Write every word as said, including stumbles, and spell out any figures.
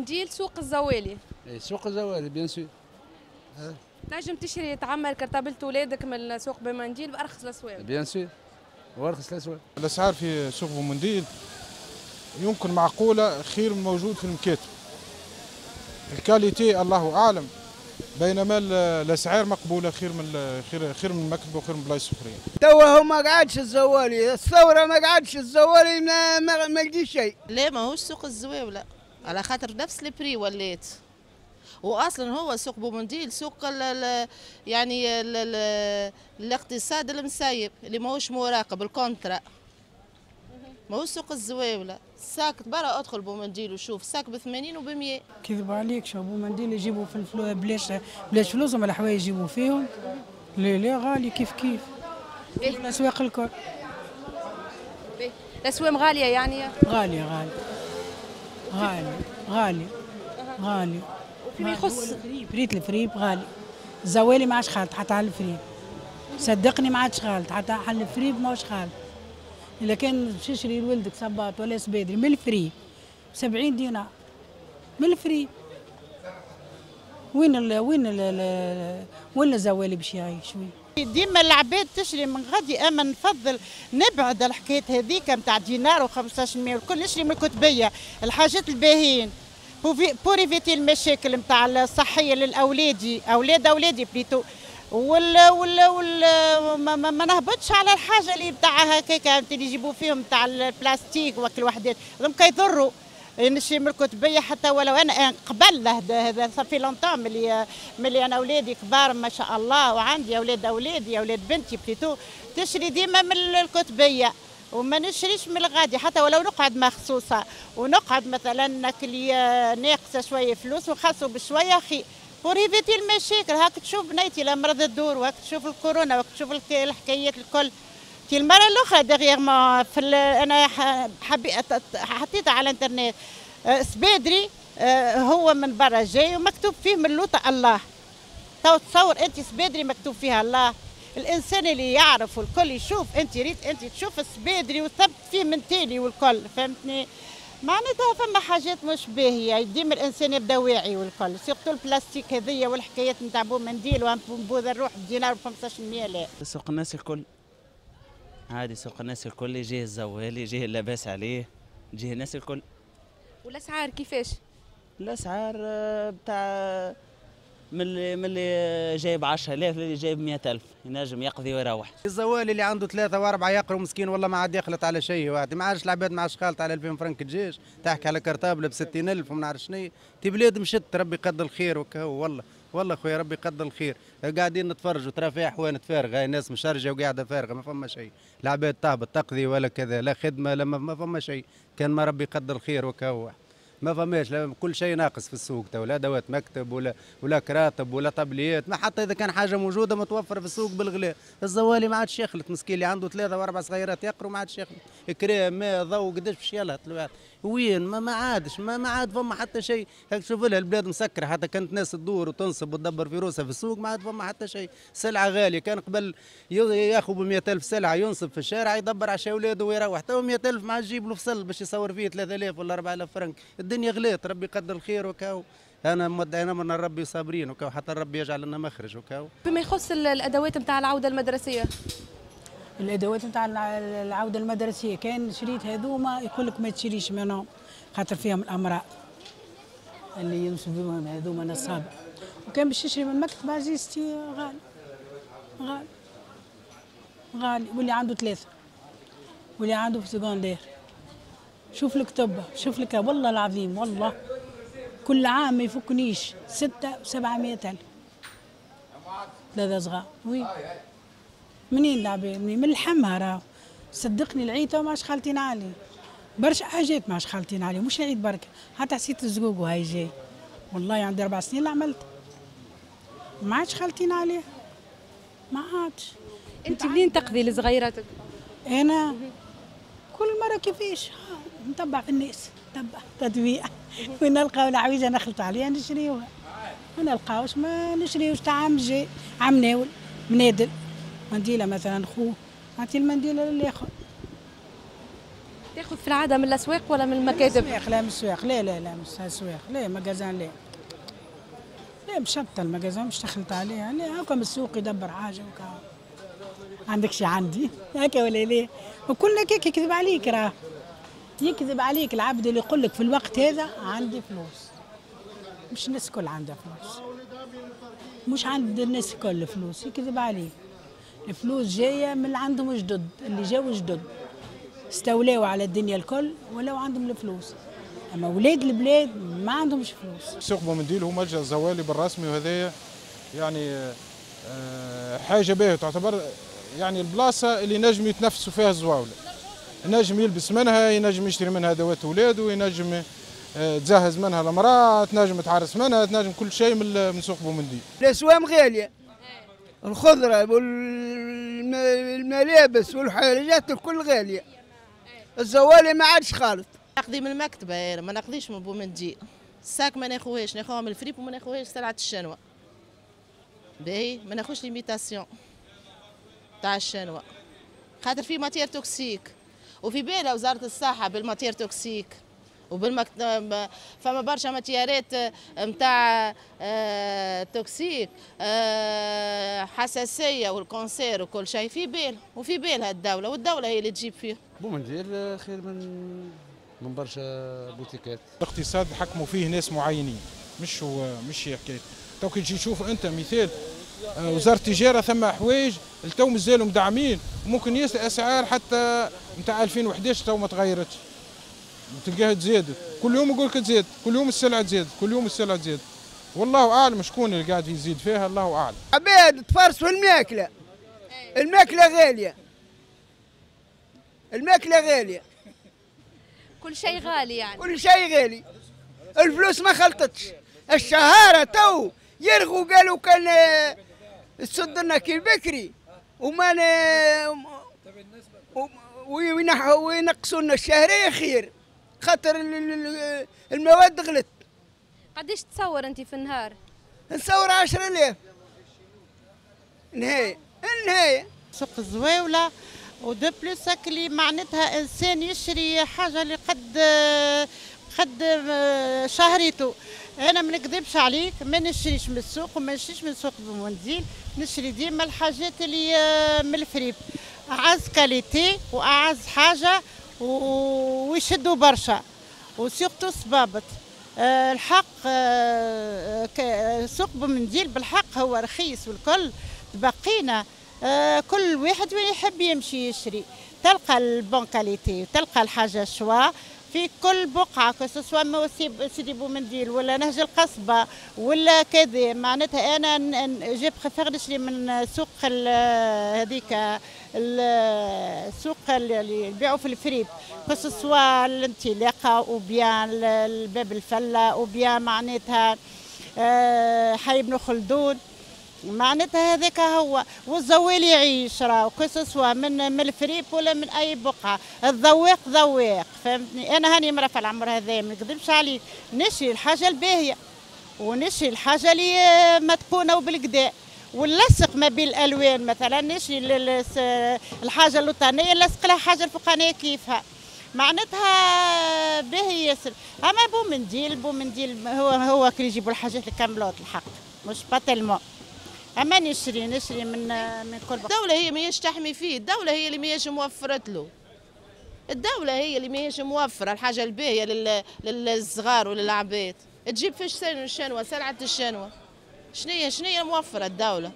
بومنديل سوق الزوالي. اي سوق الزوالي bien sûr. تنجم تشري تعمر كرتابلة ولادك من سوق بومنديل بارخص الاسواق. bien sûr وارخص الاسواق. الاسعار في سوق بومنديل يمكن معقولة خير من موجود في المكاتب. ال qualité الله اعلم، بينما الاسعار مقبولة خير من خير خير من المكتب وخير من بلايص اخرين. توا هو ما قعدش الزوالي، الثورة ما قعدش الزوالي، ما ما, ما لقي شيء. لا ماهوش سوق الزواوله على خاطر نفس ال prix ولات، واصلا هو سوق بومنديل سوق ال ال يعني ال ال الاقتصاد المسيب اللي ماهوش مراقب ال contrat، ماهوش سوق الزواوله. sac برا ادخل بومنديل وشوف sac ب ثمانين وب مية. كذبوا عليك، شو بومنديل يجيبوا في الفلوس بلاش بلاش فلوسهم الحوايج يجيبوا فيهم. لا لا غالي كيف كيف الاسواق الكل. الاسواق غالية يعني؟ غالية غالية غالية غالية غالية. فيما يخص فريت الفريب غالي، الزوالي ما عادش خالط حتى على الفريب، صدقني ما عادش خالط حتى على الفريب ماهوش خالط. إذا كان باش تشري لولدك صباط ولا سبادري من الفريب سبعين دينار من الفريب، وين ال وين ال وين الزوالي باش يعيش؟ وين؟ ديما العباد تشري من غادي، اما نفضل نبعد الحكاية هذيك نتاع دينار وخمسطاش مية والكل، نشري من الكتبيه الحاجات الباهين pour éviter المشاكل نتاع الصحية للاولادي، اولاد اولادي plutôt، وال وال وال ما, ما, ما نهبطش على الحاجة اللي نتاع هكاك اللي يجيبوا فيهم نتاع البلاستيك وكل وحدات هذوك يضروا. نشري من الكتبيه حتى ولو انا قبل هذا ça fait longtemps ملي ملي انا اولادي كبار ما شاء الله وعندي اولاد اولادي اولاد بنتي plutôt، تشري ديما من الكتبيه وما نشريش من الغادي حتى ولو نقعد مخصوصة ونقعد مثلا ناكل ناقصه شوية فلوس ونخلصوا بشوية خي pour éviter المشاكل. هاك تشوف بنيتي لا مرض الدور، وهاك تشوف الكورونا، وهاك تشوف الحكايات الكل. في المرة الاخرى dernièrement في انا حبيت حطيتها على الانترنت سبادري هو من برا جاي ومكتوب فيه من لوطه الله. تو تصور انت سبادري مكتوب فيها الله؟ الانسان اللي يعرف والكل يشوف، انت ريت انت تشوف السبادري وثبت فيه من تالي والكل، فهمتني؟ معناتها فما حاجات مش باهيه، ديما الانسان يبدا واعي والكل، surtout البلاستيك هذيا والحكايات نتاع بومنديل وبوذا الروح بدينار ب خمسطاش مية. لا سوق الناس الكل عادي، سوق الناس الكل يجيه الزوالي يجيه لاباس عليه يجيه الناس الكل. والاسعار كيفاش؟ الاسعار بتاع من اللي من اللي جايب عشرة آلاف للي جايب مئة ألف ينجم يقضي ويروح. الزوالي اللي عنده ثلاثة وأربعة يقروا مسكين والله ما عاد يخلط على شيء، واحد ما عادش العباد ما عادش خالط على ألفين فرنك دجاج، تحكي على cartable ب ستين ألف وما نعرف شنو. تي بلاد مشت ربي يقدر الخير وكهو، والله والله خويا ربي يقدر الخير. قاعدين نتفرجوا ترى فيها حوانت فارغة، هاي الناس مشرجه وقاعدة فارغة ما فما شيء، العباد تهبط تقضي ولا كذا، لا خدمة لا ما فما شيء، كان ما ربي يقدر الخير وكهو. ما فماش كل شيء ناقص في السوق تو، لا ادوات مكتب ولا ولا كراتب ولا طبليات، ما حتى اذا كان حاجة موجودة متوفرة في السوق بالغلاء. الزوالي ما عادش يخلط مسكين، اللي عنده ثلاثة واربع صغيرات يقروا ما عادش يخلط، كريم ماء ضوء قداش باش يلهط الواحد؟ وين ما, ما عادش ما, ما عاد فما حتى شيء. هاك شوف لها البلاد مسكره، حتى كانت ناس تدور وتنصب وتدبر في روسها في السوق ما عاد فما حتى شيء. سلعه غالية، كان قبل ياخذ ب مئة ألف سلعه ينصب في الشارع يدبر عشا اولاده ويروح، تو مئة ألف ما عادش يجيب له فصل باش يصور فيه ثلاثة آلاف ولا أربعة آلاف فرنك. الدنيا غليت، ربي يقدر الخير وكاو. انا مدعينا من ربي صابرين وكاو حتى ربي يجعل لنا مخرج وكاو. بما يخص الادوات نتاع العودة المدرسية، الادوات نتاع العودة المدرسية كان شريت هذوما يقول لك ما تشريش منهم خاطر فيهم الامراض اللي ينسبوا بهم هذوما نصابه، وكان باش تشري من مكتب عزيزتي غالي غالي غالي، واللي عنده ثلاثة واللي عنده في secondaire. شوف الكتب، شوف لك والله العظيم والله كل عام ما يفكنيش ستة وسبعمية ألف ثلاثة صغار. oui منين العباد؟ منين؟ من لحمها راهو، صدقني العيد ما عادش خالطين عليه، برشا حاجات ما عادش خالطين عليه، مش العيد بركة، حتى حسيت الزقوق وهاي جاي، والله عندي أربع سنين اللي عملت ما عادش خالطين عليه، ما عادش. أنت منين تقضي لصغيراتك؟ أنا كل مرة كيفاش نتبع في الناس، نتبع تطبيع وين نلقاو العويجة نخلط عليها نشريوها، ما نلقاوش ما نشريوش. تاع عام جاي عام ناول منادل منديلة مثلا خوه نعطي المنديلة للآخر. تاخذ في العادة من الاسواق ولا من المكاتب؟ من الاسواق، لا من الاسواق، لا لا لا من الاسواق، لا magasin لا. لا مشبطه ال magasin مش دخلت عليها، لا هاكا من السوق يدبر حاجة وكا. عندك شي عندي هكا ولا لا؟ وكلنا كيك يكذب عليك، راه يكذب عليك العبد اللي يقول لك في الوقت هذا عندي فلوس. مش الناس الكل عندها فلوس، مش عند الناس الكل فلوس، يكذب عليك. الفلوس جاية من اللي عندهم جدد، اللي جاوا جدد استولاو على الدنيا الكل ولو عندهم الفلوس، اما ولاد البلاد ما عندهمش فلوس. سوق بومنديل هو ملجأ الزوالي بالرسمي، وهذايا يعني حاجة باهيه تعتبر، يعني البلاصة اللي نجم يتنفسوا فيها الزواوله، ينجم يلبس منها، ينجم يشتري منها ادوات ولاده، ينجم تجهز منها المراة، تنجم تعرس منها، تنجم كل شيء من سوق بومنديل. الاسوام غالية، الخضرة والملابس والحاجات الكل غالية، الزوالي ما عادش خالط. ناخذي من المكتبة انا، ما ناخذيش من بومنديل، ال sac ما ناخوهاش، ناخوها من الفريب وما ناخوهاش سلعه الشنوه. باهي ما ناخوش l'imitation تاع الشنوه، خاطر في matière toxique، وفي بالها وزارة الصحة بال matière toxique وبالمكت... فما برشا matière ات نتاع toxique، حساسية وال cancer وكل شيء في بال، وفي بالها الدولة، والدولة هي اللي تجيب فيه. بومنديل خير من من برشا بوتيكات. الاقتصاد حكموا فيه ناس معينين، مش هو مش هي حكاية. تو كي تجي تشوف انت مثال وزارة التجارة ثم حوايج التو مازالوا مدعمين، وممكن ياسر اسعار حتى نتاع ألفين وحداش تو ما تغيرتش، تلقاها تزادت، كل يوم يقول لك تزاد، كل يوم السلعة تزاد، كل يوم السلعة تزاد، والله اعلم شكون اللي قاعد يزيد فيها، الله اعلم. عباد تفرسوا الماكلة، الماكلة غالية، الماكلة غالية، كل شيء غالي يعني، كل شيء غالي، الفلوس ما خلطتش، الشهاره تو يرغوا قالوا كان تصد لنا كي البكري وما وينقصوا لنا الشهرية خير، خاطر المواد غلت. قداش تصور انت في النهار؟ نصور عشرة آلاف نهاية النهاية. سوق الزواوله و de plus اللي معناتها انسان يشري حاجة اللي قد قد شهريته. انا ما نكذبش عليك، ما نشريش من السوق وما نشريش من سوق بومنديل، نشري ديما الحاجات اللي من الفريب، اعز qualité واعز حاجة ويشدوا برشا، و surtout صبابط. الحق سوق بومنديل بالحق هو رخيص والكل، تبقينا كل واحد وين يحب يمشي يشري، تلقى ال bonne qualité وتلقى الحاجة choix في كل بقعة، que ce soit سيدي بومنديل ولا نهج القصبة ولا كذا. معناتها انا je préfère نشري من سوق هذيك السوق اللي يبيعوا في ال fripes، que ce soit الانطلاقة ou bien الباب الفلة ou bien معناتها حي بن خلدون، معناتها هذاك هو. والزوال يعيش راهو que ce soit من من الفريب ولا من اي بقعة، الذواق ذواق، فهمتني؟ انا هاني مرة في العمر هذا ما نكذبش عليك، نشري الحاجة الباهيه ونشري الحاجة اللي متقونه وبالكدا، ونلصق ما بين الالوان، مثلا نشري الحاجة اللوطانيه نلصق لها حاجة الفوقانيه كيفها، معناتها باهي ياسر. اما بومنديل بومنديل هو هو كي يجيبوا الحاجات الكاملات الحق مش pas tellement. اما نشري نشري من من كل بقعة. الدولة هي ماهيش تحمي فيه، الدولة هي اللي ماهيش موفرت له، الدولة هي اللي ماهيش موفرة الحاجة الباهية للصغار وللعباد. تجيب فيش الشنوة، سلعة الشنوة شنية شنية موفرة الدولة؟